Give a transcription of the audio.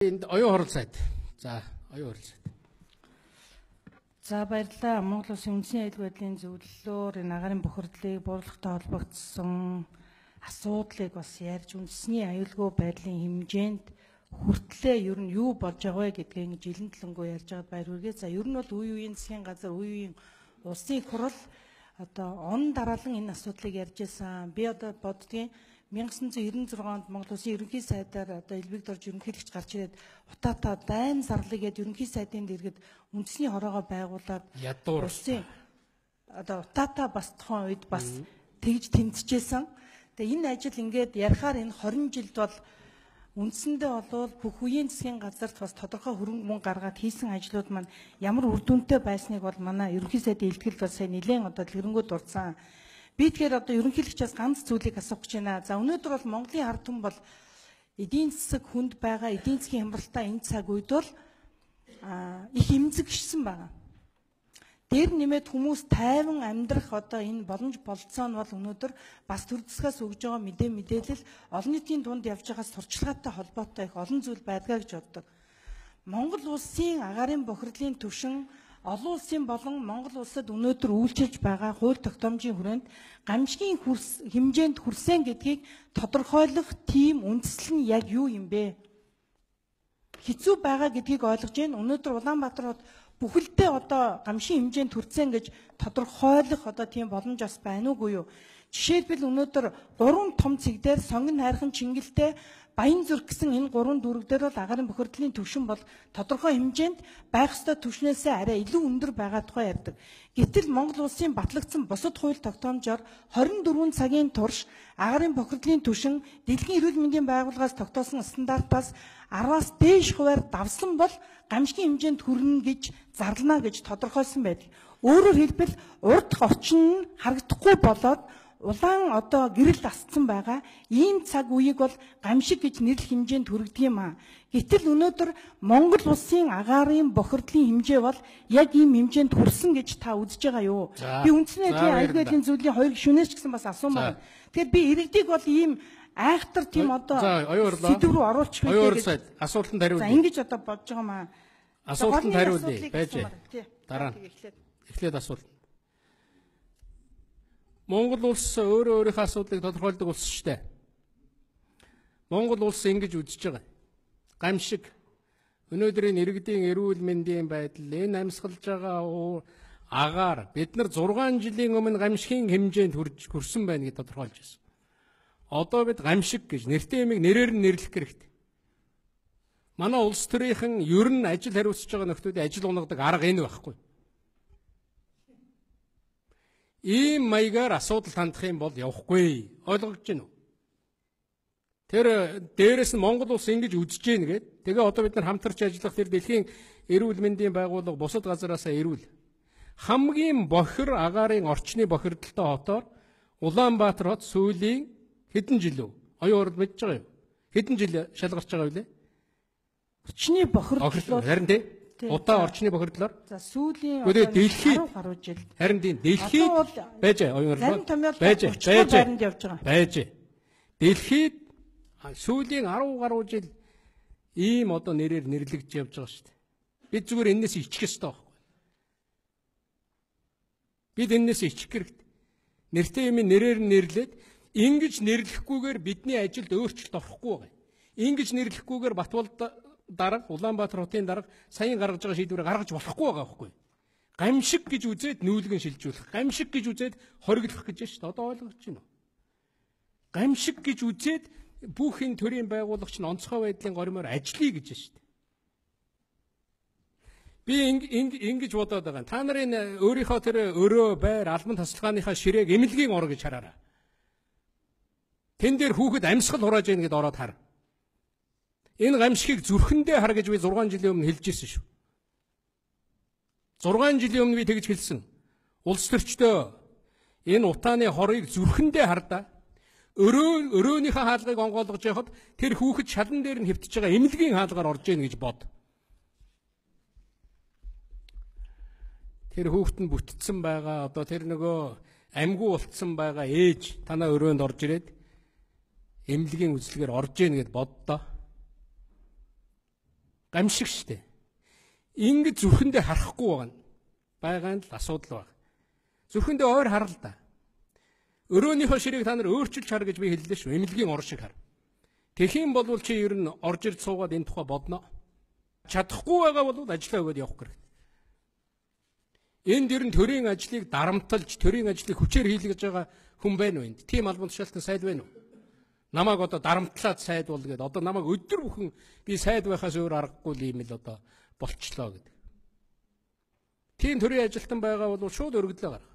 Энд оюун хорол сайд. За, оюун хорол сайд. За баярлалаа. Монгол Улсын үндэсний аюулгүй байдлын зөвлөлөөр энэ агаарын бохирдлыг бууруулахтай холбогдсон асуудлыг бас ярьж үндэсний аюулгүй байдлын хэмжээнд хүртлээ ер нь юу болж байгаа вэ гэдгийг ингэж илэн төлөнгөө ярьж байгаад баяр хүргэе. За ер нь бол үе үеийн засгийн газар, үе үеийн улсын хурал одоо он дараалан энэ асуудлыг ярьж байсан. Би одоо боддгийн 1996 онд Монгол Улсын ерөнхий сайдаар одоо Элбэг Дорж ерөнхийлөгч гарч ирээд утаатаа дайн зарлыг гээд ерөнхий сайдын дэргэд үндэсний хороогоо байгуулад улсын одоо утаатаа бас тухайн үед бас тэгж тэмцэжсэн. Тэгээ энэ ажил ингээд ярихаар энэ 20 жилд бол үндсэндээ болвол бүх үеийн засгийн газарт бас тодорхой хөрөнгө мөнгө гаргаад хийсэн ажлууд маань ямар үр дүнтэй байсныг бол манай ерөнхий сайдын илтгэл бас сайн нэлээд одоо дэлгэрэнгүй дурдсан. Би тэгэхээр одоо ерөнхийлөгчөөс ганц зүйлийг асуух гэж байна. За өнөөдөр бол Монголын ард түмэн бол эдийн засаг хүнд байгаа, эдийн засгийн хямралтай энэ цаг үед бол их эмзэгшсэн байгаа. Дээр нэмээд хүмүүс тайван амьдрах одоо энэ боломж болцоо нь бол өнөөдөр бас төр засгаас өгж байгаа мэдээлэл олон нийтийн дунд явж байгаа сурчлагатай холбоотой их олон зүйл байдгаа гэж боддог. Монгол улсын агаарын бохирдлын түвшин олон улсын болон Монгол улсад өнөөдөр үйлчилж байгаа хууль тогтоомжийн хүрээнд гамшигын хэмжээнд хүрсэн гэдгийг тодорхойлох тийм үндэслэл нь яг юу юм бэ? Хэцүү байгаа гэдгийг ойлгож байна. Өнөөдөр Улаанбаатар хот бүхэлдээ одоо гамшигын хэмжээнд хүрсэн гэж тодорхойлох одоо тийм боломж бас байна уугүй юу? Жишээлбэл өнөөдөр 3 том цэг дээр сонгон хайрхан Чингэлтэй Баян зүрх гэсэн энэ 3 дүрэг дээр бол агаарын бохирдлын түвшин бол тодорхой хэмжээнд байх ёстой түвшнээсээ арай илүү өндөр байгаа тухай ярьдаг. Гэтэл Монгол улсын батлагдсан бусад хууль тогтоомжоор 24 цагийн турш агаарын бохирдлын түвшин Дэлхийн эрүүл мэндийн байгууллагаас тогтоосон стандартаас 10-аас дээш хувиар давсан бол гамшигын хэмжээнд хүрнэ гэж зарлана гэж тодорхойлсон байдаг. Өөрөөр хэлбэл урд орчин нь харагдахгүй болоод улаан одоо гэрэл асцсан байгаа. Ийм цаг үеийг бол гамшиг гэж нэрлэх хэмжээнд хүргэдэг юм аа. Гэтэл өнөөдөр Монгол улсын агаарын бохирдлын хэмжээ бол яг ийм хэмжээнд хүрсэн гэж та үзэж байгаа юу? Би үндэсний аюулгүй байдлын зүйлийн хоёр гишүүнээс ч гэсэн бас асуумаар. Тэгэхээр би иргэдийг бол ийм айхтар тийм одоо сэдв рүү оруулчих үү гэж асуултанд хариулъя. За ингэж одоо бодож байгаа маа. Асуултанд хариулъя. Байж. Дараа нь эхлээд асуулт. Монгол улс өөрөө өөрийнхөө асуудлыг тодорхойлдог улс шүү дээ. Монгол улс ингэж үзэж байгаа. Гамшиг өнөөдрийн иргэдийн эрүүл мэндийн байдал, энэ амьсгалж байгаа агаар бид нар 6 жилийн өмнө гамшигын хэмжээнд хүрсэн байна гэж тодорхойлж байсан. Одоо бид гамшиг гэж нэртэй юмыг нэрээр нь нэрлэх хэрэгтэй. Манай улс төрийнхэн ер нь ажил хариуцж байгаа нөхдүүдийн ажил унагадаг арга энэ байхгүй. Ийм маягаар асуудал хандах юм бол явахгүй. Ойлгож байна уу? Тэр дээрээс нь Монгол улс ингэж үзэж гин гээд тэгээ одоо бид нар хамтарч ажиллах тэр Дэлхийн эрүүл мэндийн байгууллага бусад газараасаа ирүүл. Хамгийн бохир агаарын орчны бохирдолтой хотоор Улаанбаатар хот сүүлийн хэдэн жил үү? Оюун хорол мэдж байгаа юу? Хэдэн жил шалгарч байгаа вэ? Орчны бохирдол харин тий удаа орчны бохирдлоор. За сүүлийн дэлхийд 10 гаруй жил. Харин дэлхийд байж оюун хорол байж. Дэлхийд сүүлийн 10 гаруй жил ийм одоо нэрээр нэрлэгдэж явж байгаа шүү дээ. Бид зүгээр энэс ичих ёстой байхгүй. Бид энэс ичих хэрэгтэй. Нэртэй юм нэрээр нэрлээд ингэж нэрлэхгүйгээр бидний ажилд өөрчлөлт орохгүй байгаа. Ингэж нэрлэхгүйгээр Батболд дарга Улаанбаатар хотын дарга саяын гаргаж байгаа шийдвэрийг гаргаж болохгүй байгаа байхгүй. Гамшиг гэж үзээд нүүлгэн шилжүүлэх, гамшиг гэж үзээд хориглох гэж байна шүү дээ. Одоо ойлгож байна уу? Гамшиг гэж үзээд бүхэн төрийн байгуулагч нь онцгой байдлын горимоор ажиллая гэж байна шүү дээ. Би ингэж бодоод байгаа. Та нарын өөрийнхөө тэр өрөө байр албан тасалгааныхаа ширээг эмнэлгийн ор гэж хараарай. Тэн дээр хүүхэд амьсгал хурааж ийн гэдээ ороод хар. Энэ гамшигыг зүрхэндээ хар гэж би 6 жилийн өмнө хэлж ирсэн шүү. 6 жилийн өмнө би тэгж хэлсэн. Улс төрчдөө энэ утааны хорыг зүрхэндээ хардаа. Өрөөнийхөө хаалгыг онгойлгож явахад тэр хүүхэд шалан дээр нь хэвтэж байгаа эмнэлгийн хаалгаар орж ийн гэж бод. Тэр хүүхэд нь бүтцсэн байгаа. Одоо тэр нөгөө амьгүй болцсон байгаа ээж танаа өрөөнд орж ирээд эмнэлгийн үзлэгээр орж ийн гэд боддоо. Гамшиг штэ. Ингэж зүрхэндээ харахгүй байгаа нь л асуудал байна. Зүрхэндээ ойр харал да. Өрөөнийхөө ширийг та нар өөрчилж хар гэж би хэллээ шүү. Эмнэлгийн ор шиг хар. Тэхийн болвол чи ер нь орж ирж суугаад энэ тухай бодно. Чадахгүй байгаа бол ажиллаа өгөөд явах хэрэгтэй. Энд ер нь төрийн ажлыг дарамтлж, төрийн ажлыг хүчээр хийлгэж байгаа хүн байна уу энд? Тим албан тушаалтан сайд байна уу? Намайг одоо дарамтлаад сайд бол гэдэг. Одоо намайг өдөр бүхэн би сайд байхаас өөр аргагүй юм л одоо болчлоо гэдэг. Тийм төрийн ажилтан байгаа бол шууд өргөдлөө гарах.